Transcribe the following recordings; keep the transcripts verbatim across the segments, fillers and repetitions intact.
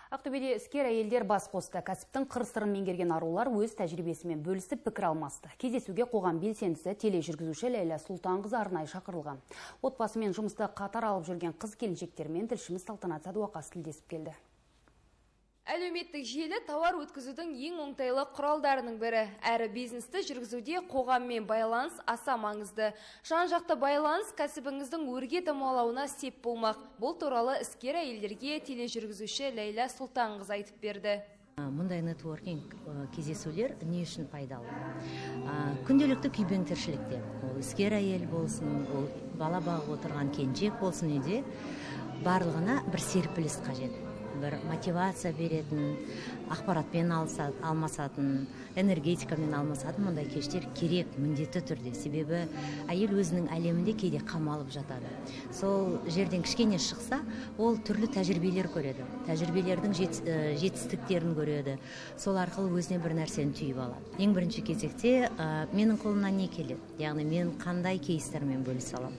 Ақтөбеде іскер әйелдер бас қосты. Кәсіптің қыр-сырын меңгерген арулар өз тәжірибесімен бөлісіп пікір алмасты. Кездесуге қоғам белсендісі тележүргізуші Ләйлә Сұлтанқызы арнайы шақырылған. Отбасымен жұмысты қатар алып жүрген қыз-келіншектермен тілшіміз Салтанат Садуақас тілдесіп келді. Әлеуметтік желі тауар өткізудің ең оңтайлы құралдарының бірі. Әрі бизнесті жүргізуде қоғаммен байланыс аса маңызды. Жан-жақты байланыс кәсібіңіздің өрге дамалауына сеп болмақ. Бұл туралы іскер әйелдерге тележүргізуші Ләйлә Сұлтанқызы айтып берді. Мұндай нетворкинг кездесулер не үшін пайдалы? Күнделікті күйбең тіршілікте. Ол іскер әйел болсын, ол бала бағып отырған келіншек болсын үйде, барлығына бір серпіліс қажет. Бір мотивация беретін, ақпаратпен алмасатын, энергетикамен алмасатын мұндай кештер керек, міндетті түрде. Себебі әйел өзінің әлемінде кейде қамалып жатады. Сол жерден кішкене шықса, ол түрлі тәжірибелер көреді. Тәжірибелердің жетістіктерін көреді. Сол арқылы өзіне бір нәрсені түйіп алады. Ең бірінші кезекте менің қолымнан не келеді? Яғни мен қандай кейстермен бөлісе аламын?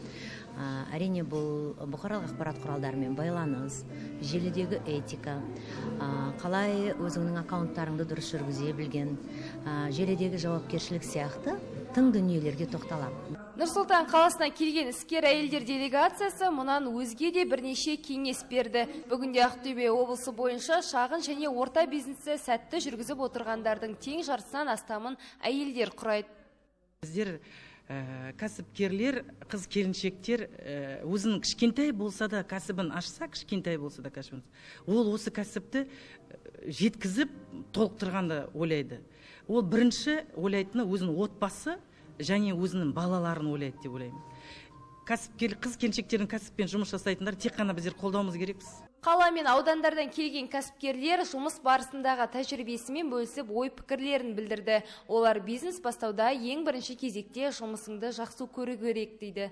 Әрине бұл бұқаралық ақпарат құралдарымен байланыс, желідегі этика, қалай өзіңнің аккаунттарыңды дұрыс жүргізе білген, желідегі жауапкершілік сияқты тың дүниелерге тоқталам. Нұр-Сұлтан қаласына келген іскер әйелдер делегациясы мұнан өзге де бірнеше кеңес берді. Бүгінде Ақтөбе облысы бойынша шағын және орта бизнесі сәтті жүргізіп отырғандардың тең жартысынан астамын әйелдер құрайды. Біздер кәсіпкерлер, қыз-келіншектер өзінің кішкентай болса да кәсібін ашса, кішкентай болса да кәсібін, ол осы кәсіпті жеткізіп толықтырғанды ойлайды. Ол бірінші ойлайтыны өзінің отбасы және өзінің балаларын ойлайды деп ойлаймын. Кәсіпкер, қыз-келіншектердің кәсіппен жұмыс жасайтындар тек қана біздер қолдауымыз керекпіз. Қала мен аудандардан келген кәсіпкерлер жұмыс барысындағы тәжірибесімен бөлісіп ой пікірлерін білдірді. Олар бизнес бастауда ең бірінші кезекте жұмысыңды жақсы көру керек дейді.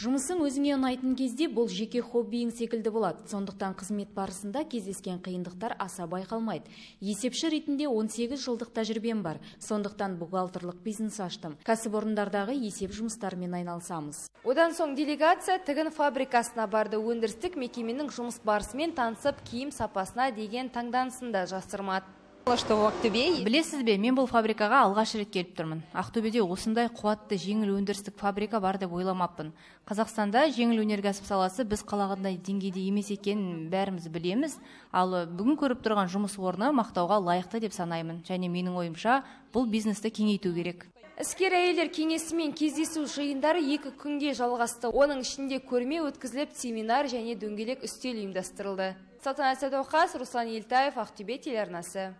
Жұмысың өзіңе ұнайтын кезде бұл жеке хоббиің секілді болады. Сондықтан қызмет барысында кездескен қиындықтар аса байқалмайды. Есепші ретінде он сегіз жылдық тәжірибем бар. Сондықтан бухгалтерлік бизнес аштым. Кәсіпорындардағы есеп жұмыстарымен айналысамыз. Одан соң делегация тігін фабрикасына барды. Өндірістік мекеменің жұмыс барысымен танысып, киім сапасына деген таңданысында жасырмады. Білесіз бе, мен бұл фабрикаға алғаш рет келіп тұрмын. Ақтөбеде осындай қуатты жеңіл өндірістік фабрика бар деп ойламаппын. Қазақстанда жеңіл өнеркәсіп саласы біз қалағандай деңгейде емес екенін бәріміз білеміз, ал бүгін көріп тұрған жұмыс орны мақтауға лайықты деп санаймын. Және менің ойымша, бұл бизнесті кеңейту керек. Іскер әйелдер кеңесімен кездесу жиындары екі күнге жалғасты. Оның ішінде көрме өткізіліп, семинар және дөңгелек үстел ұйымдастырылды. Салтанат Садуақас, Руслан Елтаев, Ақтөбе телеарнасы.